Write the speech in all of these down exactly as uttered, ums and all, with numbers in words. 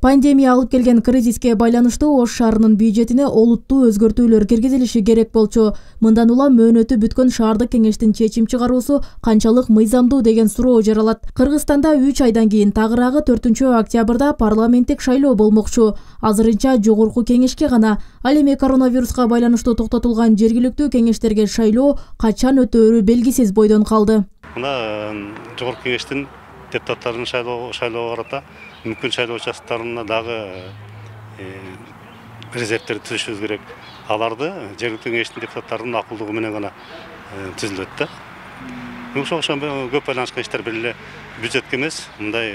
Пандемия алып келген кризиске байланыштуу Ош шаарынын бюджетине олуттуу өзгөртүүлөр киргизилиши керек болчу. Мындан улам мөөнөтү бүткөн шаардык кеңештин чечим чыгаруусу канчалык мыйзамдуу деген суроо жаралат. Кыргызстанда үч айдан кийин тагыраагы төртүнчү октябрда парламенттик шайлоо болмокчу. Азырынча жогорку кеңешке гана, ал эми коронавируска байланыштуу токтотулган жергиликтүү кеңештерге шайлоо качан өтөөрү белгисиз бойдон калды. Мына жогорку кеңештин депутаттарын шайлоо шайлоого карата мүмкүн шайлоо участоктарына дагы резервтерди түзүшүбүз керек. Аларды жергиликтүү кеңештин депутаттарынын акылдугу менен гана түзүлөт да. Ошого көп байланышкан иштер бир эле бюджетке эмес, мындай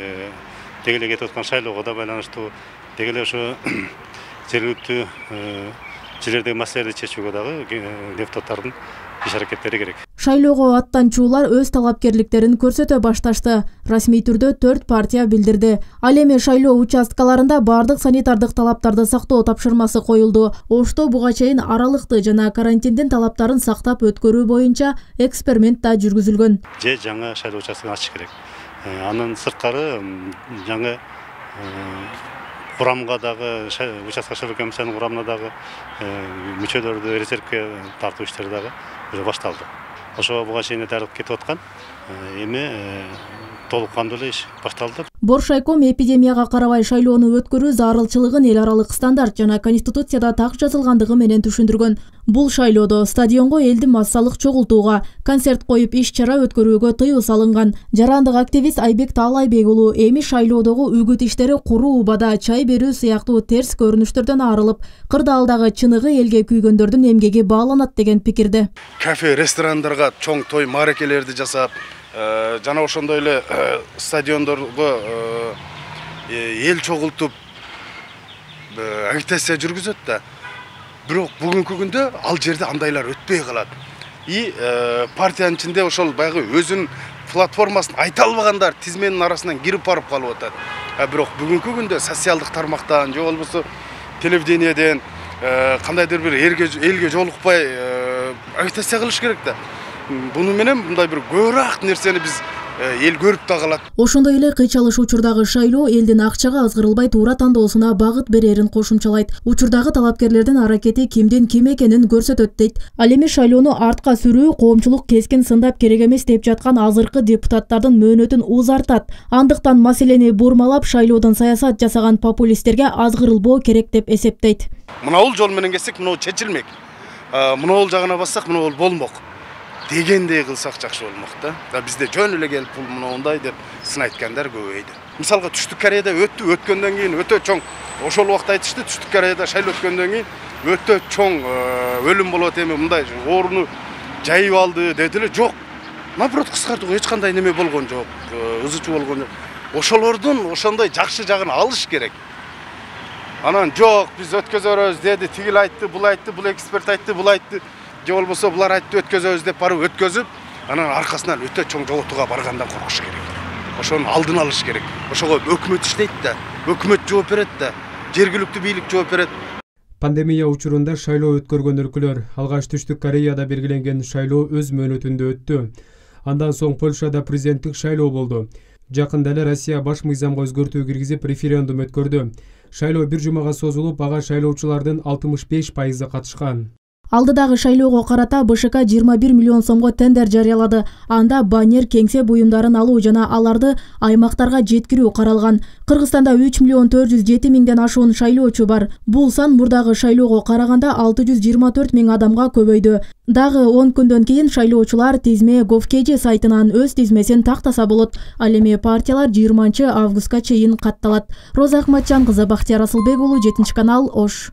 деги эле кетип аткан шайлоого да байланыштуу, деги эле ошо жергиликтүү жерлердеги маселелерди чечүүгө дагы депутаттардын иш аракеттери керек. Шайлоого аттанчулар өз талапкерликтерин көрсөтө башташты. Расмий түрдө төрт партия билдирди. Ал эми шайлоо участкаларында бардык санитардык талаптарды сактоо тапшырмасы коюлду. Ошто буга чейин аралыкты жана карантиндин талаптарын сактап өткөрүү боюнча эксперимент да жүргүзүлгөн. Же жаңы шайлоо участкын ачыш керек. Анын сырткары жаңы курамга дагы участка шайлоо комиссиянын курамына дагы мүчөлөрдү резервке тартуу иштери дагы башталды. Ошого буга чейин дарып кетип аткан, эми толук кандуу эле иш башталды. Боршайком эпидемияга карабай шайлоону өткөрүү зарылчылыгын эл аралык стандарт жана конституцияда так жазылгандыгы менен түшүндүргөн. Бул шайлоодо стадионго элди массалык чогултууга, концерт коюп иш-чара өткөрүүгө тыюу салынган. Жарандык активист Айбек Таалайбек уулу эми шайлоодогу үгүт иштери куруу убада чай берүү сыяктуу терс көрүнүштөрдөн арылып, кырдаалдагы чыныгы элге күйгөндөрдүн эмгеги бааланат деген пикирде. Кафе, ресторандарга чоң той мааракелерди жасап, жана ошондой эле стадиондорго эл чогултуп агитация жүргүзөт да. Бирок бүгүнкү күндө ал жерде андайлар өтпөй калат. И партиянын ичинде ошол баягы өзүнүн платформасын айта албагандар тизменин арасынан кирип барып калып атат. А бирок бүгүнкү күндө социалдык тармактан же болбосо телевидениеден кандайдыр бир элге жолукпай агитация кылыш керек да. Буну менен мындай бир көбүрөөк нерсени биз эл көрүп да калат. Ошондой эле кыйчалыш учурдагы шайлоо элдин акчага азгырылбай туура тандоосуна багыт берерин кошумчалайт. Учурдагы талапкерлердин аракети кимдин ким экенин көрсөтөт дейт. Ал эми шайлоону артка сүрүү коомчулук кескин сындап керек эмес деп жаткан азыркы депутаттардын мөөнөтүн узартат. Андыктан маселени бурмалап шайлоодон саясат жасаган популисттерге азгырылбоо керек деп эсептейт. Мына бул жол менен кетсек, мына чечилмек. Мына бул жагына бассак, мына бул болмок дегендей кылсак жакшы болмок да. Бизде жөн эле келип бул мындай деп сын айткандар көбөйдү. Мисалга Түштүк Кореяда өттү, өткөндөн кийин өтө чоң, ошол убакта айтышты, Түштүк Кореяда шайлоо өткөндөн кийин өтө чоң өлүм болот, эми мындай орууну жайып алды дедиле. Жок. Наоборот кыскартууга эч кандай неме болгон жок, ызычуу болгон жок. Ошолордун ошондой жакшы жагын алыш керек. Анан жок, биз өткөзөрөбүз деди, тигил айтты, бул айтты, бул эксперт айтты, бул айтты. Же болбосо булар айтты өткөзөбүз деп барып өткөзүп, анан аркасынан өтө чоң жоготууга баргандан коркуш керек. Ошонун алдын алыш керек. Ошого өкмөт иштейт да, өкмөт жооп берет да, жергиликтүү бийлик жооп берет. Пандемия учурунда шайлоо өткөргөн өлкөлөр алгач Түштүк Кореяда белгиленген шайлоо өз мөөнөтүндө өттү. Андан соң Польшада президенттик шайлоо болду. Жакында эле Россия баш мыйзамга өзгөртүү киргизип референдум өткөрдү. Шайлоо бир жумага созулуп, ага шайлоочулардын алтымыш беш пайызы катышкан. Алдыдагы шайлоого карата БШК жыйырма бир миллион сомго тендер жарыялады. Анда баннер, кеңсе буюмдарын алуу жана аларды аймактарга жеткирүү каралган. Кыргызстанда үч миллион төрт жүз жети миңден ашуун шайлоочу бар. Бул сан мурдагы шайлоого караганда алты жүз жыйырма төрт миң адамга көбөйдү. Дагы он күндөн кийин шайлоочулар тизме Gov.kg сайтынан өз тизмесин тактаса болот. Ал эми партиялар жыйырманчы августка чейин катталат. Роза Акматжан кызы, Бактияр Асылбек уулу, жетинчи канал, Ош.